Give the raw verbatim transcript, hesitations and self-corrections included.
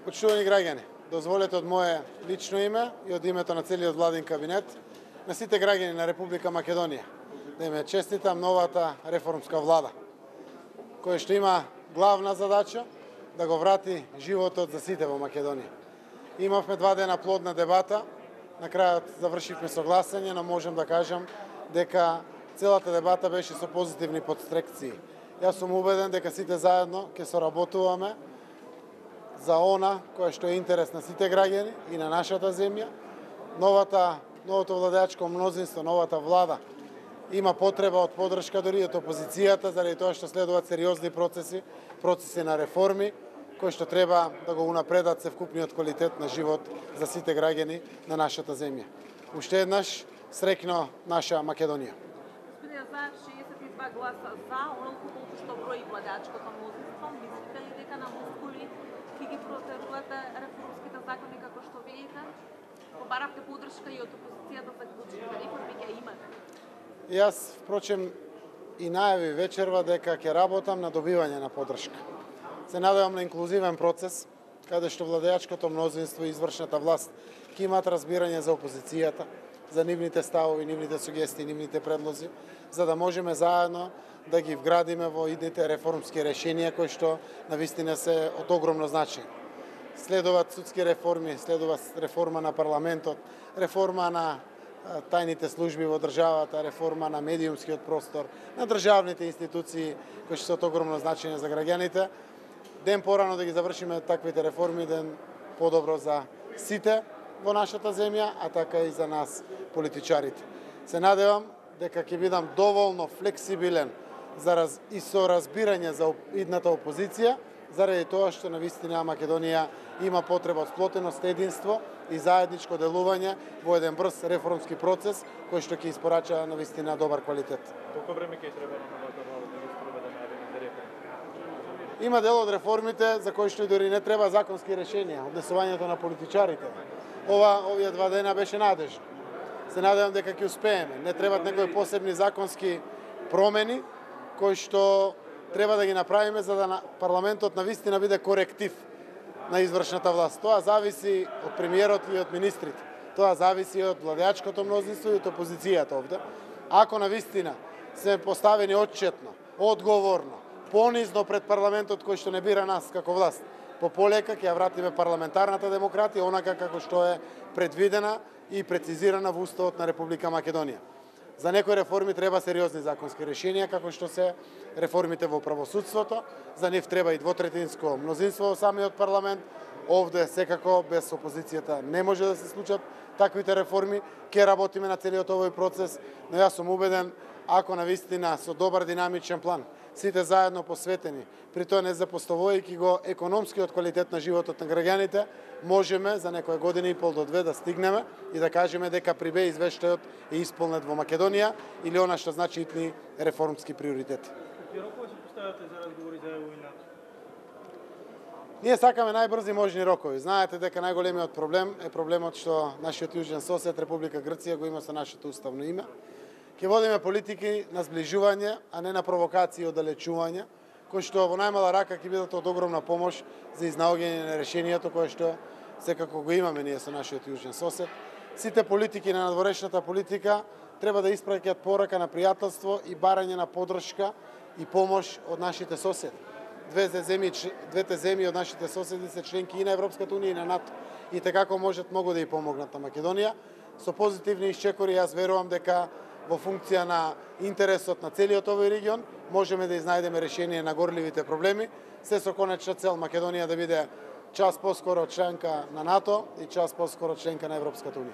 Почитувани граѓани, дозволете од мое лично име и од името на целиот владин кабинет на сите граѓани на Република Македонија да им честитам новата реформска влада, која што има главна задача да го врати животот за сите во Македонија. Имавме два дена плодна дебата, на крајот завршивме согласење, но можем да кажам дека целата дебата беше со позитивни подстрекции. Јас сум убеден дека сите заедно ќе соработуваме за она кое што е интерес на сите граѓани и на нашата земја. Новата, новото владеачко мнозинство, новата влада има потреба од поддршка дури од опозицијата, заради тоа што следуваат сериозни процеси, процеси на реформи, кои што треба да го унапредат севкупниот квалитет на живот за сите граѓани на нашата земја. Уште еднаш, среќно наша Македонија. Господин Заев, шеесет и два гласа за, онолку колку што брои владеачкото мнозинство, мислите ли дека на мускули ќе ги протерувате реформските закони како што видите? Побаравте поддршка и од опозицијата за клучните реформи ќе имате. Јас, впрочем, и најави вечерва дека ќе работам на добивање на поддршка. Се надевам на инклузивен процес, каде што владеачкото мнозинство и извршната власт ќе имаат разбирање за опозицијата, за нивните ставови, нивните сугестии, нивните предлози, за да можеме заедно да ги вградиме во идните реформски решенија кои што навистина се од огромно значај. Следуваат судски реформи, следува реформа на парламентот, реформа на тајните служби во државата, реформа на медиумскиот простор, на државните институции кои што се од огромно значење за граѓаните. Ден порано да ги завршиме таквите реформи, ден подобро за сите во нашата земја, а така и за нас политичарите. Се надевам дека ќе бидам доволно флексибилен за раз... и со разбирање за идната опозиција, заради тоа што навистина Македонија има потреба од сплотеност, единство и заедничко делување во еден брз реформски процес кој што ќе испорача навистина добар квалитет. Колку време ќе треба на новата влада да ги спроведе најавените реформи? Има дел од реформите за кои што и дори не треба законски решенија, однесувањето на политичарите. Ова овие два дена беше надежно. Се надевам дека ќе успееме. Не требаат некои посебни законски промени кои што треба да ги направиме за да парламентот навистина биде коректив на извршната власт. Тоа зависи од премиерот и од министрите. Тоа зависи од владеачкото мнозинство и од опозицијата овде. Ако навистина се поставени отчетно, одговорно, понизно пред парламентот кој што не бира нас како власт, по полека ќе ја вратиме парламентарната демократија онака како што е предвидена и прецизирана во Уставот на Република Македонија. За некои реформи треба сериозни законски решенија, како што се реформите во правосудството. За нив треба и двотретинско мнозинство во самиот парламент. Овде секако без опозицијата не може да се случат таквите реформи. Ке работиме на целиот овој процес, но јас сум убеден, ако навистина со добар динамичен план, сите заедно посветени, при тоа не запоставувајќи го економскиот квалитет на животот на граѓаните, можеме за некоја година и пол до две да стигнеме и да кажеме дека прибе извештајот е исполнет во Македонија или она што значи итни реформски приоритети. Какви рокови се поставате за разговори за ЕУ и НАТО? Ние сакаме најбрзи можни рокови. Знаете дека најголемиот проблем е проблемот што нашиот јужен сосед Република Грција го има со нашето уставно име. Ќе водиме политики на зближување, а не на провокации и оддалечување, кои што во најмала рака ќе бидат од огромна помош за изнаоѓање на решението кое што секако го имаме ние со нашиот јужен сосед. Сите политики на надворешната политика треба да испраќаат порака на пријателство и барање на поддршка и помош од нашите соседи. Двете земји, двете земји од нашите соседи се членки и на Европската унија и на НАТО и tekako можат многу да ја помогнат на Македонија. Со позитивни исчекори јас верувам дека во функција на интересот на целиот овој регион можеме да изнајдеме решение на горливите проблеми, се со конечна цел Македонија да биде час поскоро членка на НАТО и час поскоро членка на Европската унија.